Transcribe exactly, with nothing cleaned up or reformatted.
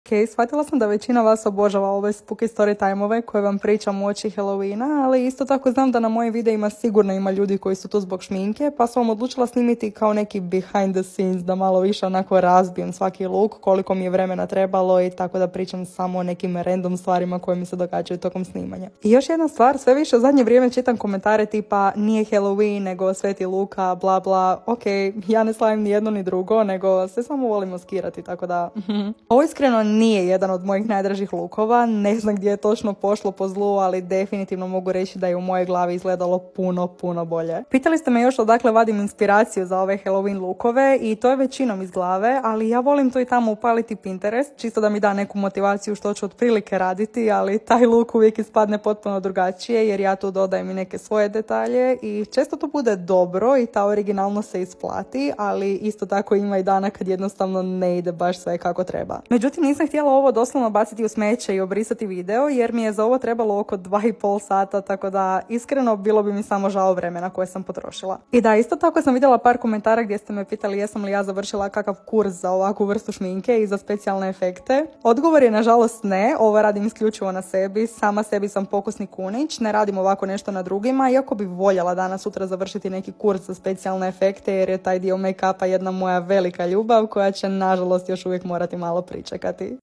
Ok, shvatila sam da većina vas obožava ove spooky story time-ove koje vam pričam uoči Halloweena, ali isto tako znam da na mojim videima sigurno ima ljudi koji su tu zbog šminke, pa sam odlučila snimiti kao neki behind the scenes, da malo više onako razbijem svaki look, koliko mi je vremena trebalo i tako da pričam samo o nekim random stvarima koje mi se događaju tokom snimanja. I još jedna stvar, sve više u zadnje vrijeme čitam komentare tipa nije Halloween nego Sveti Luka, bla bla. Ok, ja ne slavim ni jedno ni drugo, nego se samo volim maskirati, tako da... Ovo iskreno nije jedan od mojih najdražih lukova, ne znam gdje je točno pošlo po zlu, ali definitivno mogu reći da je u mojoj glavi izgledalo puno, puno bolje. Pitali ste me još odakle vadim inspiraciju za ove Halloween lukove i to je većinom iz glave, ali ja volim to i tamo upaliti Pinterest, čisto da mi da neku motivaciju što ću otprilike raditi, ali taj luk uvijek ispadne potpuno drugačije jer ja tu dodajem i neke svoje detalje i često to bude dobro i ta originalno se isplati, ali isto tako ima i dana kad jednostavno ne ide baš sve kako treba. Međutim, nisam htjela ovo doslovno baciti u smeće i obrisati video jer mi je za ovo trebalo oko dva i pol sata, tako da iskreno bilo bi mi samo žao vremena koje sam potrošila. I da, isto tako sam vidjela par komentara gdje ste me pitali jesam li ja završila kakav kurs za ovakvu vrstu šminke i za specijalne efekte. Odgovor je nažalost ne, ovo radim isključivo na sebi, sama sebi sam pokusni kunić, ne radim ovako nešto na drugima, iako bi voljela danas sutra završiti neki kurs za specijalne efekte jer je taj dio make-upa jedna moja velika ljubav koja će nažalost još uvijek morati malo pričekati.